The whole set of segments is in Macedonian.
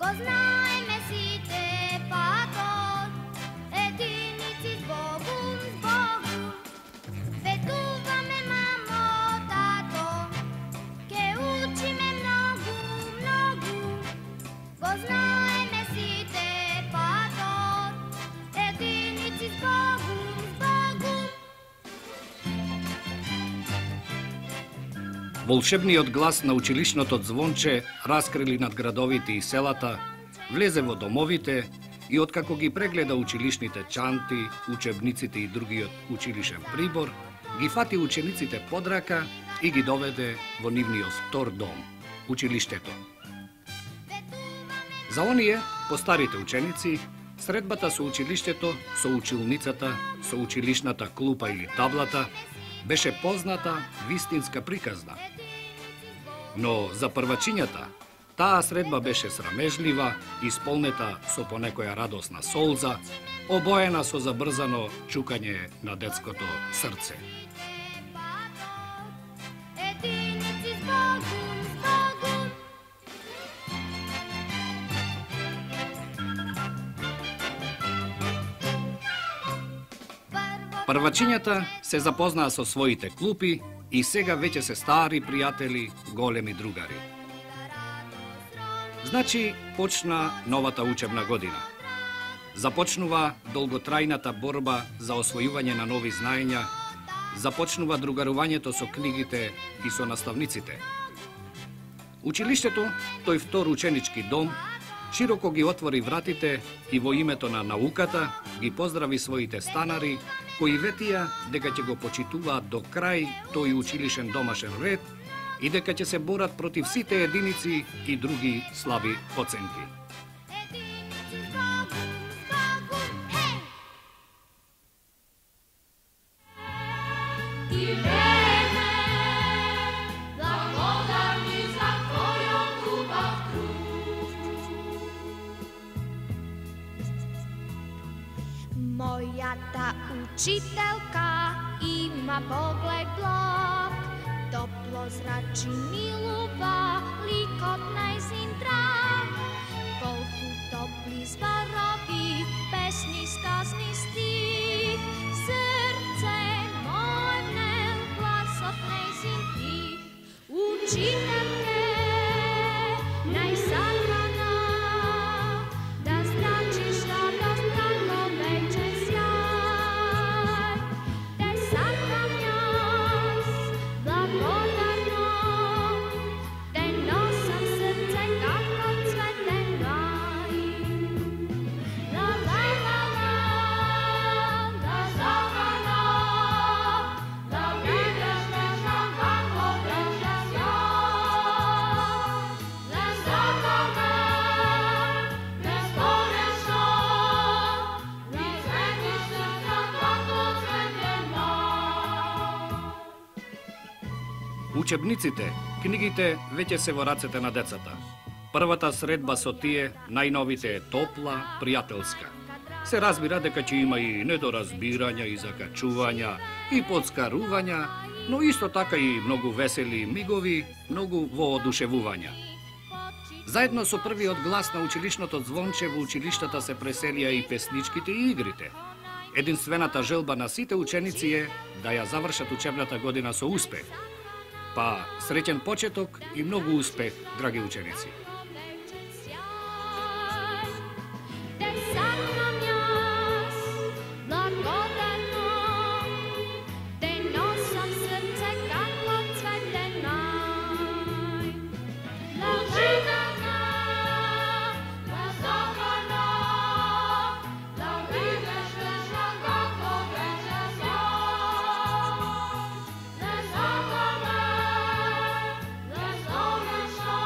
Познajme сите патот, единици с Богом, Ветуваме, мамо, тато, ке учиме многу, многу. Познajme сите патот, единици с Богом, Волшебниот глас на училишното звонче раскрили над градовите и селата, влезе во домовите и откако ги прегледа училишните чанти, учебниците и другиот училишен прибор, ги фати учениците под рака и ги доведе во нивниот втор дом, училиштето. За оние, постарите ученици, средбата со училиштето, со училницата, со училишната клупа или таблата, беше позната вистинска приказна. Но за првачињата, таа средба беше срамежлива, исполнета со понекоја радосна солза, обоена со забрзано чукање на детското срце. Првачињата се запознаа со своите клупи и сега веќе се стари пријатели, големи другари. Значи, почна новата учебна година. Започнува долготрајната борба за освојување на нови знаења, започнува другарувањето со книгите и со наставниците. Училиштето, тој втор ученички дом, широко ги отвори вратите и во името на науката ги поздрави своите станари, кои ветија дека ќе го почитуваат до крај тој училишен домашен ред и дека ќе се борат против сите единици и други слаби оценки. Мојата учителка има поглед благ, топло зрачи милува ликот најзин драг. Колку топли зборови, песни, сказни стих, срце моје внел гласот најзин тих. Учителке, најсакана, да зрачиш радост како вечен сјај. Те сакам јас, благодарно, те носам срце како цветен рај. Ла ла ла ла, да закана, да видиш нешто како вечен сјај. Да закана, бесконечно, да светиш срца како цветен рај. Учебниците, книгите веќе се во рацете на децата. Првата средба со тие, најновите е топла, пријателска. Се разбира дека ќе има и недоразбирања и закачувања, и подскарувања, но исто така и многу весели мигови, многу воодушевувања. Заедно со првиот глас на училишното звонче во училиштата се преселија и песничките и игрите. Единствената желба на сите ученици е да ја завршат учебната година со успех. Па, среќен почеток и многу успех, драги ученици. Те сакам јас, благодарно, те носам срце како цветен рај. Учителка, да закана, да видиш нешто како вечен сјај. Да закана, бесконечно,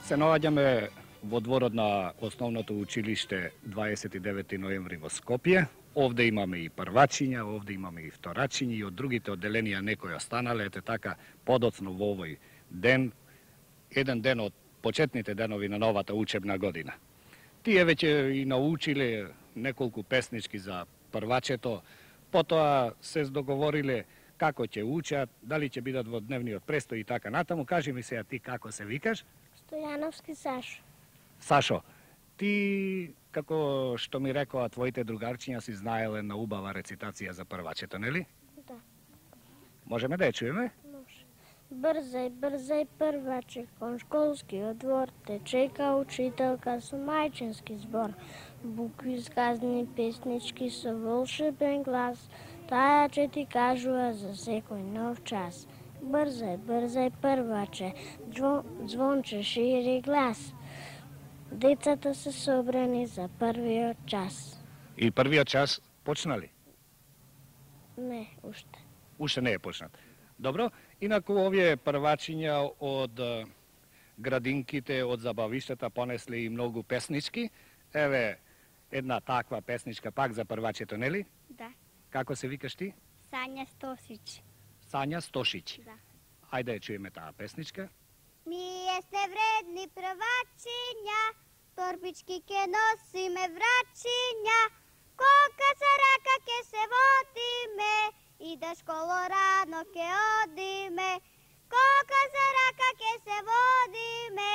Се наоѓаме во дворот на основното училиште 29 ноември во Скопје. Овде имаме и првачиња, овде имаме и вторачиња и од другите одделенија некои останале, ете така подоцно во овој ден, еден ден од почетните денови на новата учебна година. Тие веќе и научиле неколку песнички за првачето, потоа се договориле како ќе учат, дали ќе бидат во дневниот престој и така натаму. Кажи ми сега ти како се викаш? Стојановски Сашо. Сашо, ти, како што ми рекоа твоите другарчиња, си знаеле на убава рецитација за првачето, нели? Да. Можеме да ја чуеме? Може. Брзај, брзај прваче, кон школскиот двор те чека учителка со мајчински збор. Букви сказни песнички со волшебен глас, таа ќе ти кажува за секој нов час. Брзај, брзај прваче, звонче шири глас. Децата се собрани за првиот час. И првиот час почна ли? Не, уште. Уште не е почнат. Добро, инаку овие првачиња од градинките, од забавиштата понесле и многу песнички. Еве, една таква песничка пак за првачето, нели? Да. Како се викаш ти? Сања Стосич. Сања Стошиć. Да. Ајде ја чуеме таа песничка. Ние сте вредни првачиња, торбички ке носиме врачиња, кока за рака ке се водиме, и да школо рано ке одиме. Кока за рака ке се водиме,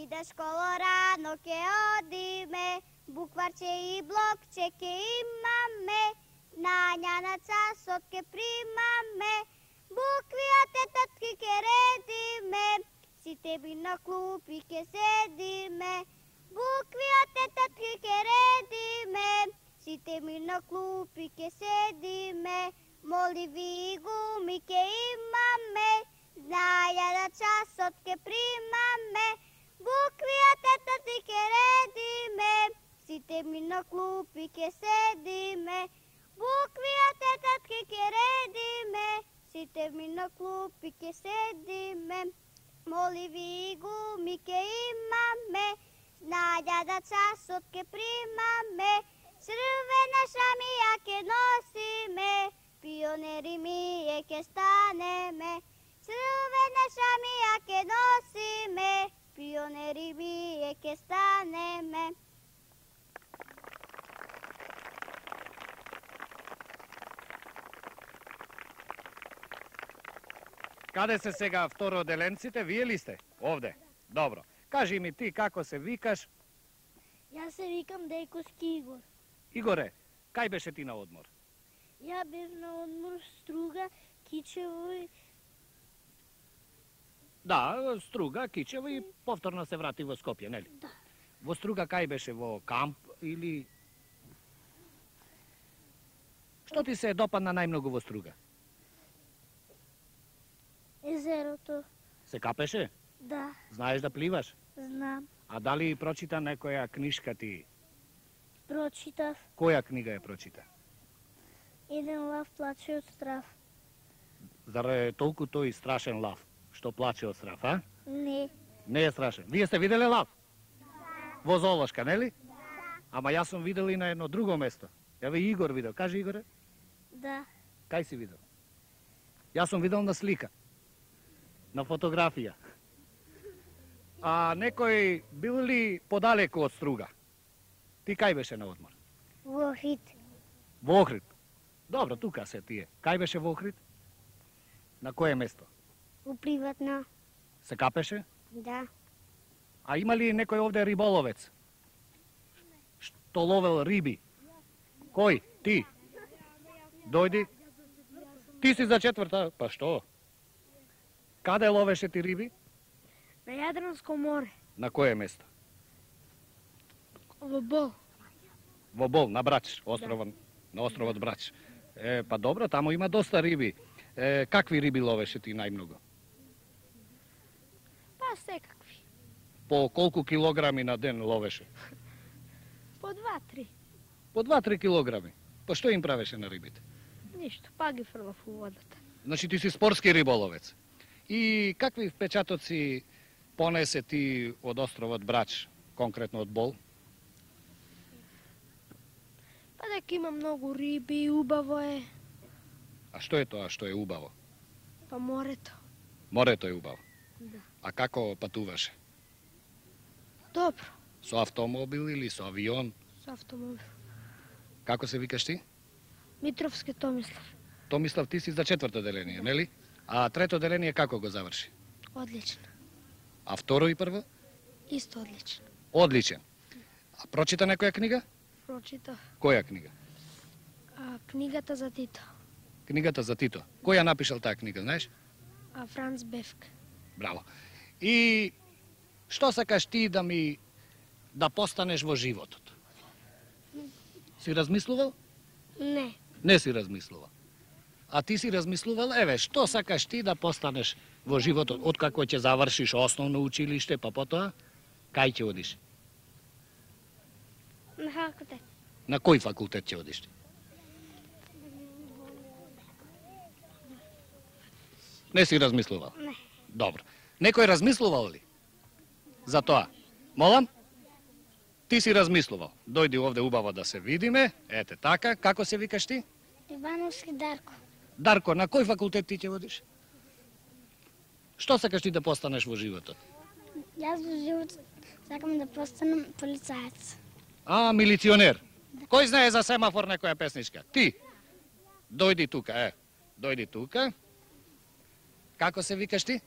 и да школо рано ке одиме. Букварче и блокче ке имаме, знања на часот ке примаме. Букви од тетатки ке редиме, сите би на клупи ке седиме. Букви од тетатки ке редиме, сите ми на клупи ке седиме. Моливи и гуми ке имаме, знаја на часот ке примаме. Букви од тетатки ке редиме, сите ми на клупи ке седиме. Букви од тетатки ке редиме, сите ми на клупи ке седиме. Моливи и гуми ке имаме, знаја да часот ке примаме. Црвена шамија ке носиме, пионери ние ке станеме. Црвена шамија ке носиме, пионери ние ке станеме. Каде се сега второделенците? Вие ли сте? Овде. Добро. Кажи ми ти како се викаш? Јас се викам Дејковски Игор. Игоре, кај беше ти на одмор? Ја бев на одмор Струга, Кичево и... Да, Струга, Кичево и повторно се врати во Скопје, нели? Да. Во Струга кај беше, во камп или... Што ти се допадна најмногу во Струга? Езерото. Се капеше? Да, Знаеш да пливаш? знам. А дали прочита некоја книшка ти? Прочитав. Која книга ја прочита? Еден лав плаче од страв. Зар е толку тој страшен лав, што плаче од страв, а? Не. Не е страшен. Вие сте виделе лав? Во зоолошка, нели? Ама јас сум видел и на едно друго место. Еве Игор видел. Кажи, Игоре, Да. кај си видел? Јас сум видел на слика. На фотографија. А некој бил ли подалеку од Струга? Ти кај беше на одмор? Во Охрид. Во Охрид. Добро, тука се тие. Кај беше во Охрид? На кое место? Во приватно. Се капеше? Да. А има ли некој овде риболовец? Што ловел риби? Кој? Ти? Дојди. Ти си за четврта? Па што? Каде ловеше ти риби? На Јадранско море. На кое место? Во Бол. Во Бол, на Брач, на островот Брач. Па добро, таму има доста риби. Какви риби ловеше ти најмногу? Па секакви. По колку килограми на ден ловеше? По 2-3. По 2-3 килограми. Па што им правеше на рибите? Ништо, па ги фрлав у водата. Значи ти си спортски риболовец. И какви впечатоци понесе ти од островот Брач, конкретно од Бол? Па дека има многу риби и убаво е. А што е тоа што е убаво? Па морето. Морето е убаво. Да. А како патуваше? Добро. Со автомобил или со авион? Со автомобил. Како се викаш ти? Митровски Томислав. Томислав, ти си за четврто деление, нели? А трето деление како го заврши? Одлично. А второ и прво? Исто одлично. Одличен. А прочита некоја книга? Прочитав Која книга? книгата за Тито. Книгата за Тито. Кој ја напишал таа книга, знаеш? Франц Бефк. Браво. И што сакаш ти да постанеш во животот? Си размислувал? Не. Не си размислувал. А ти си размислувал, еве, што сакаш ти да постанеш во животот, откако ќе завршиш основно училиште, па потоа, кај ќе одиш? На факултет. На кој факултет ќе одиш? Не си размислувал? Не. Добро. Некој размислувал ли? За тоа? Молам? Ти си размислувал. Дојди овде убаво да се видиме. Ете така. Како се викаш ти? Ивановски Дарко. Дарко, на кој факултет ти ќе одиш? Што сакаш ти да постанеш во животот? Јас во живот сакам да постанам полицаец. А, милиционер. Кој знае за семафор некоја песничка? Ти. Дојди тука, Дојди тука. Како се викаш ти?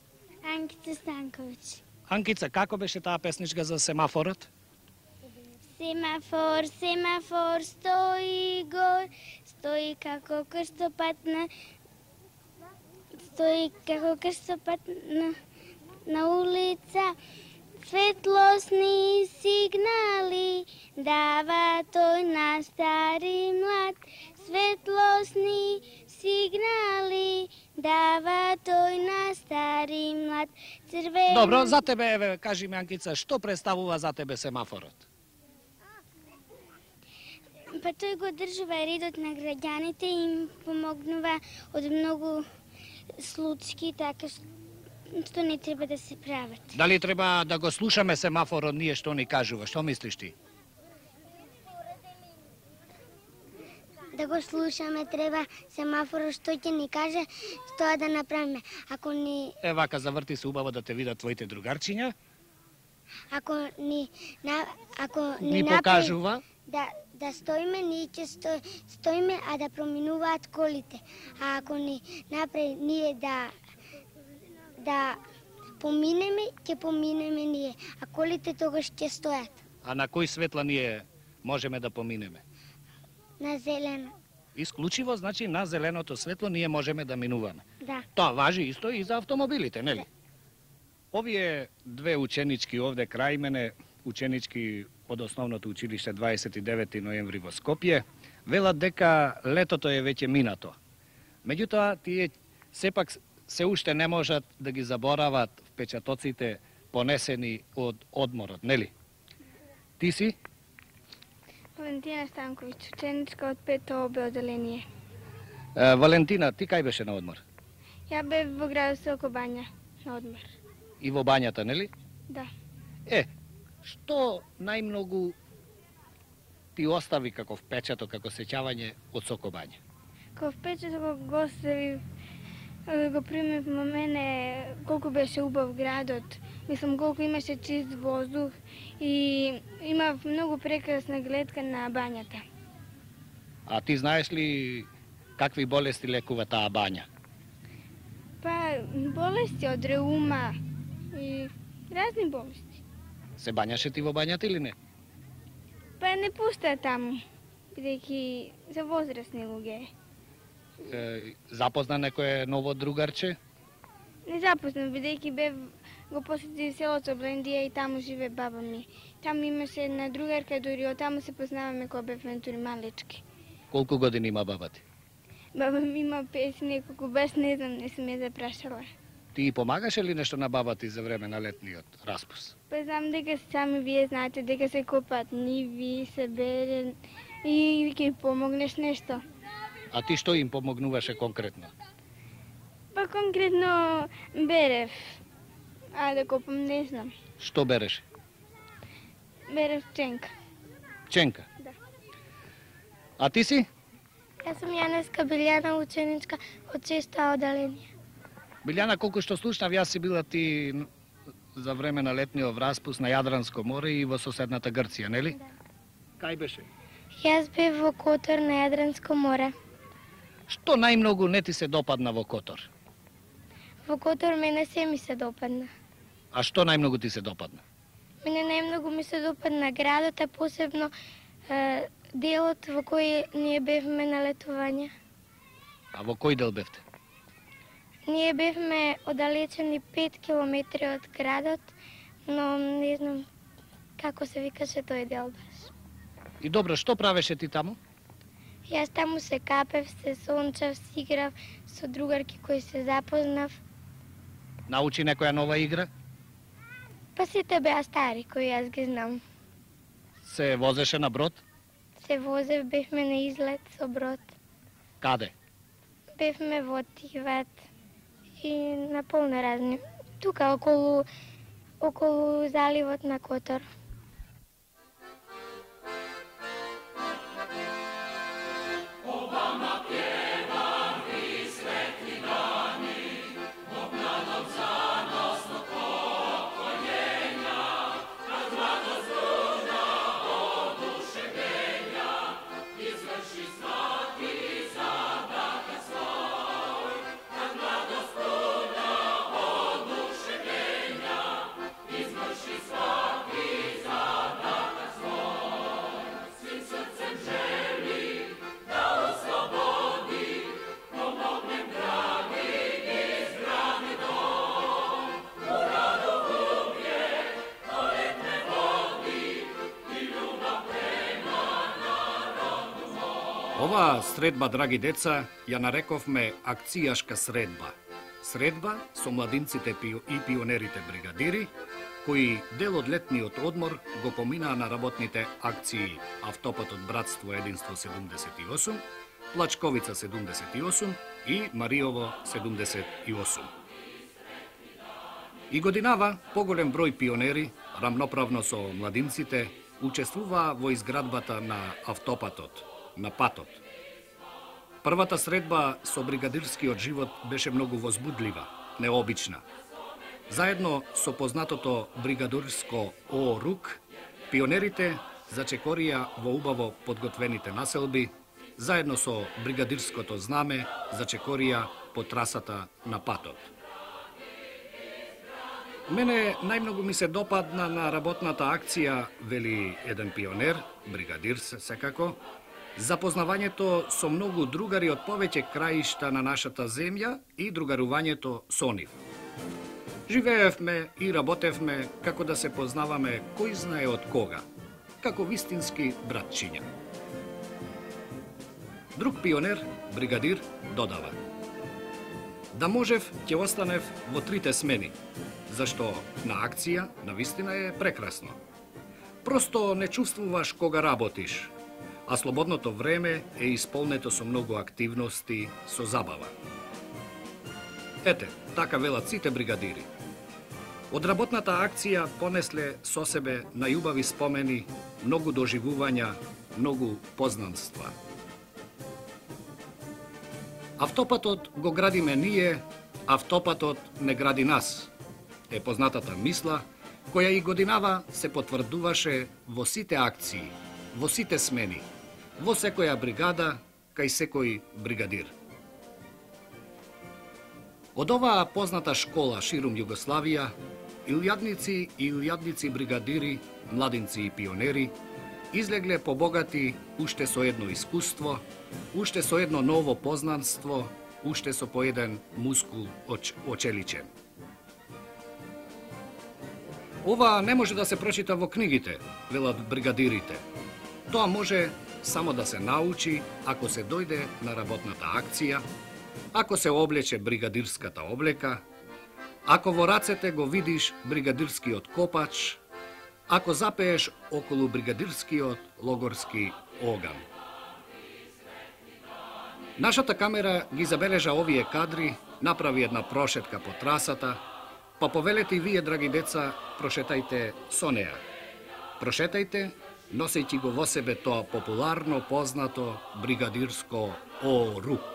Анкица Станковиќ. Анкица, како беше таа песничка за семафорот? Семафор, семафор, стои гор, стои како крстопатна, на улица. Светлосни сигнали дава тој на стари млад. Светлосни сигнали дава тој на стари млад. Црвено... Добро, за тебе, еве, кажи ми, Анкица, што представува за тебе семафорот? Па тој го држува редот на граѓаните и им помогнува од многу случаи, така што не треба да се прават. Дали треба да го слушаме семафорот ние што ни кажува? Што мислиш ти? Да го слушаме, треба семафорот што ќе ни каже, тоа да направиме. Ако ни Вака, заврти се убаво да те видат твоите другарчиња. ако ни Ни направи покажува. да стоиме, ние ќе стоиме, а да проминуваат колите. А ако ни направи ние да поминеме, ќе поминеме ние, а колите тогаш ќе стојат А на кој светла ние можеме да поминеме? на зелено. Исклучиво, значи, на зеленото светло ние можеме да минуваме. Да. Тоа важи исто и за автомобилите, нели? Овие две ученички овде крај мене, ученички од основното училиште 29 ноември во Скопје, велат дека летото е веќе минато. Меѓутоа, тие сепак се уште не можат да ги заборават впечатоците понесени од одморот, нели? Ти си? Валентина Станковиќ, ученичка од 5-то ОБ одделение. Валентина, ти кај беше на одмор? Ја бев во градот Сокобања на одмор. И во бањата, нели? Да. Што најмногу ти остави како впечаток, како сеќавање од Сокобања? Као впечаток кога го остави, го примев на мене колку беше убав градот. Мислам колку имаше чист воздух и имав многу прекрасна гледка на бањата. А ти знаеш ли какви болести лекува таа бања? Па болести од реума и разни болести. Се бањаше ти во бањата или не? Па не пуста таму, бидејќи за возрастни луѓе. Запозна некое ново другарче? Не запознам, бидејќи го посети селото Блендија и таму живе баба ми. Таму имаше една другарка, дури од таму се познаваме кога бевме тури малечки. Колку години има баба ти? Баба ми има 50 неколку, баш не знам, не сум ја запрашала. Ти помагаше ли нешто на баба ти за време на летниот распус? Па знам дека сами вие знаете дека се копаат ниви, се бере и ќе помогнеш нешто. А ти што им помогнуваше конкретно? Па конкретно берев А да копам не знам. Што береш? Берем ченка. Ченка. Да. А ти си? Јас сум Јанеска Билјана, ученичка од 6-та одделение. Билјана, колку што слушнав, јас си била ти за време на летниот враспуст на Јадранско море и во соседната Грција, нели? Да. Кај беше? Јас бев во Котор на Јадранско море. Што најмногу не ти се допадна во Котор? Во Котор мене се ми се допадна. А што најмногу ти се допадна? Мене најмногу ми се допадна градот, а посебно делот во кој ние бевме на летување. А во кој дел бевте? Ние бевме оддалечени 5 километри од градот, но не знам како се викаше тој дел баш. И добро, што правеше ти таму? Јас таму се капев, се сончав, си играв со другарки кои се запознав. Научи некоја нова игра? Па сите беа стари кои јас ги знам. Се возеше на брод? Се возев, бевме на излет со брод. Каде? Бевме во Тиват и на полно разни. Тука околу заливот на Котор. Оваа средба, драги деца, ја нарековме акцијашка средба. Средба со младинците и пионерите бригадири, кои дел од летниот одмор го поминаа на работните акции Автопатот Братство Единство 78, Плачковица 78 и Мариово 78. И годинава поголем број пионери, рамноправно со младинците, учествуваа во изградбата на автопатот, на патот. Првата средба со бригадирскиот живот беше многу возбудлива, необична. Заедно со познатото бригадирско ОРУК, пионерите зачекорија во убаво подготвените населби, заедно со бригадирското знаме зачекорија по трасата на патот. Мене најмногу ми се допадна на работната акција, вели еден пионер, бригадир секако, запознавањето со многу другари од повеќе краишта на нашата земја и другарувањето со нив. Живеевме и работевме како да се познаваме кој знае од кога, како вистински братчиња. Друг пионер, бригадир, додава: да можев, ќе останев во 3 смени, зашто на акција навистина е прекрасно. Просто не чувствуваш кога работиш, а слободното време е исполнето со многу активности, со забава. Ете, така велат сите бригадири. Од работната акција понесле со себе најубави спомени, многу доживувања, многу познанства. Автопатот го градиме ние, автопатот не гради нас, е познатата мисла, која и годинава се потврдуваше во сите акции, во сите смени, во секоја бригада, кај секој бригадир. Од оваа позната школа ширум Југославија, илјадници бригадири, младинци и пионери, излегле побогати уште со едно искуство, уште со едно ново познанство, уште со по еден мускул очеличен. Ова не може да се прочита во книгите, велат бригадирите. Тоа може само да се научи ако се дојде на работната акција, ако се облече бригадирската облека, ако во рацете го видиш бригадирскиот копач, ако запееш околу бригадирскиот логорски оган. Нашата камера ги забележа овие кадри, направи една прошетка по трасата, Па повелете и вие, драги деца, прошетајте со неа. Прошетајте, носејќи го во себе тоа популарно познато бригадирско О рук.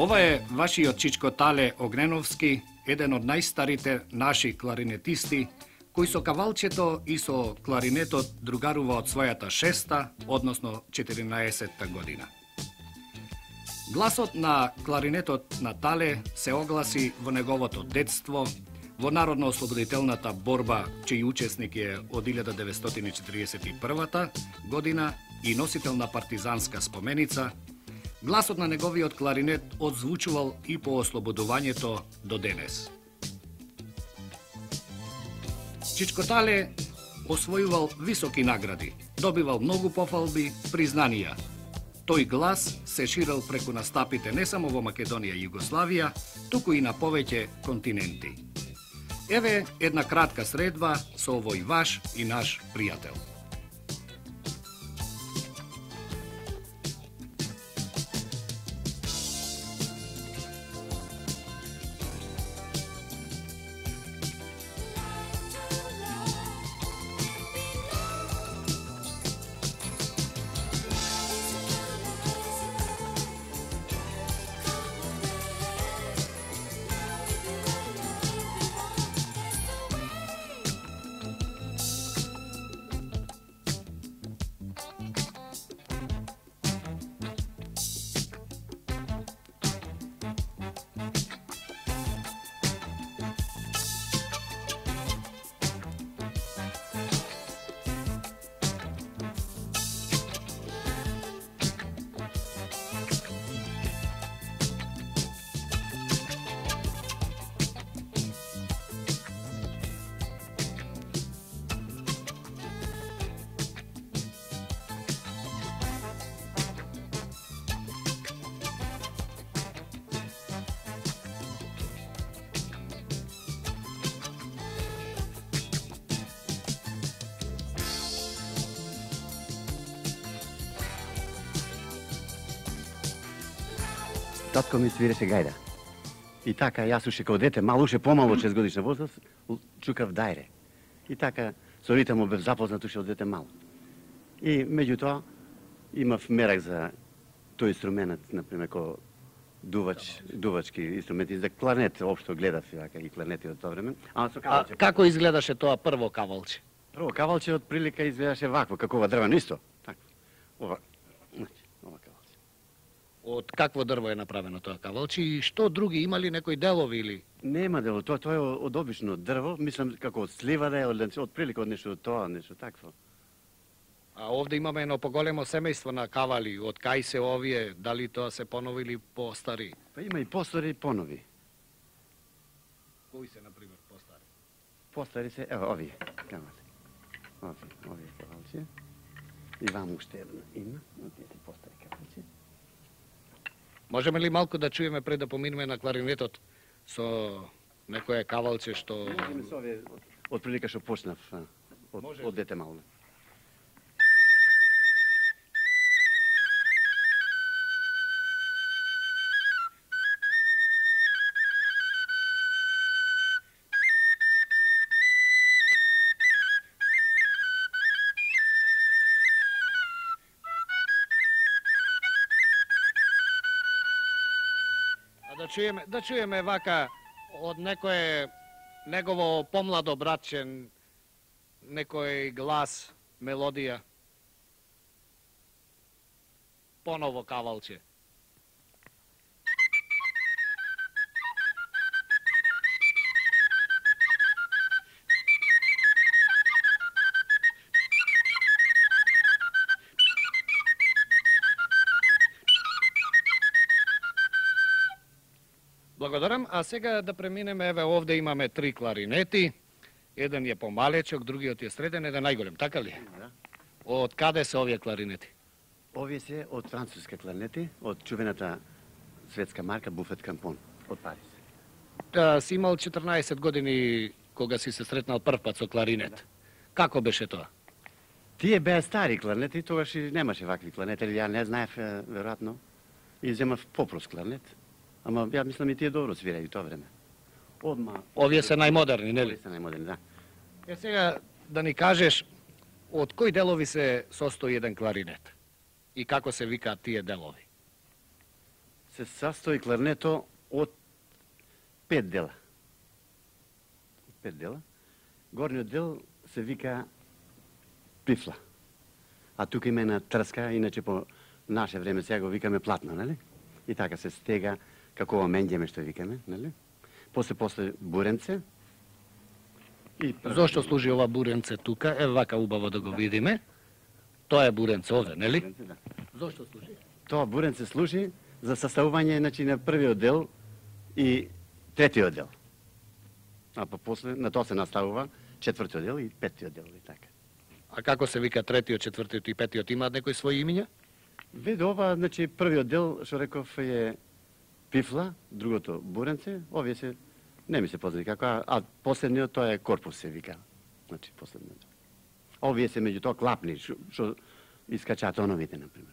Ова е вашиот Чичко Тале Огненовски, еден од најстарите наши кларинетисти, кој со кавалчето и со кларинетот другарува од својата 6-та, односно 14-та година. Гласот на кларинетот на Тале се огласи во неговото детство, во Народно-ослободителната борба, чиј учесник е од 1941 година и носител на партизанска споменица. Гласот на неговиот кларинет одзвучувал и по ослободувањето до денес. Чичко Тале освојувал високи награди, добивал многу пофалби, признанија. Тој глас се ширел преку настапите не само во Македонија и Југославија, туку и на повеќе континенти. Еве една кратка средба со овој ваш и наш пријател. Татко ми свиреше гајда. И така, јас уште као дете, мало уште помало 6 годишна возраст, чукав дајре. И така, со ритмот бев запознат уште од дете мало. И меѓутоа, имав мерак за тој инструмент, например, ко дувачки инструменти, за кларнет, општо гледав и кларнети од тоа време. А како изгледаше тоа прво кавалче? Прво кавалче од прилика изгледаше вакво, како ова дрвено исто. Така. Ова, значи, ова кавалче. Од какво дрво е направено тоа кавалче и што други, има ли некои делови или? Нема дело, тоа е од обично дрво, мислам како од слива да е, од прилика од нешто тоа, нешто такво. А овде имаме едно поголемо семејство на кавали, од кај се овие, дали тоа се понови или постари? Па има и постари и понови. Кои се, например, постари? Постари се, ево, овие, кавали. Овие кавалче. И вам уште едно има, овие се постари кавалче. Можеме ли малку да чуеме пред да поминеме на кларинетот со некое кавалче што... Можеме со овие, од прилика што почнав, од дете мало. Да чуеме вака од некое негово помладо братче, некој глас, мелодија. Поново кавалче. Благодарам, а сега да преминеме, еве овде имаме 3 кларинети, еден е помалечок, другиот е среден, еден најголем, така ли? Да. Од каде се овие кларинети? Овие се од француски кларинети, од чувената светска марка Буфет Кампон, од Париз. Си имал 14 години кога си се сретнал прв пат со кларинет. Како беше тоа? Тие беа стари кларинети, тогаш и немаше вакви кларинети, ја не знаев, веројатно, и земав попрост кларинет. Ама ја мислам и тие добро свирају тоа време. Одма... Овие се најмодерни, нели? Овие се најмодерни, да. Е сега да ни кажеш од кои делови се состои еден кларинет и како се викаат тие делови? Се састои кларинето од 5 дела. 5 дела. Горниот дел се вика пифла. А тука има една трска, иначе по наше време сега го викаме платно, нели? И така се стега како менѓеме што викаме, нели? После буренце. И Зошто служи ова буренце тука? Е вака убаво да го видиме. Тоа е буренце овде, нели? буренце, да. Зошто служи? Тоа буренце служи за составување, значи, на првиот дел и третиот дел. А па после на тоа се наставува четвртиот дел и петтиот дел и така. А како се вика третиот, четвртиот и петиот? Имаат некои своји имиња? Виде ова, значи, првиот дел, што реков, е пифла, другото буренце, овие се, не ми се познати како, а последниот тоа е корпус се вика. Значи, последниот. Овие се меѓу тоа клапни, што искачаат тоновите, например.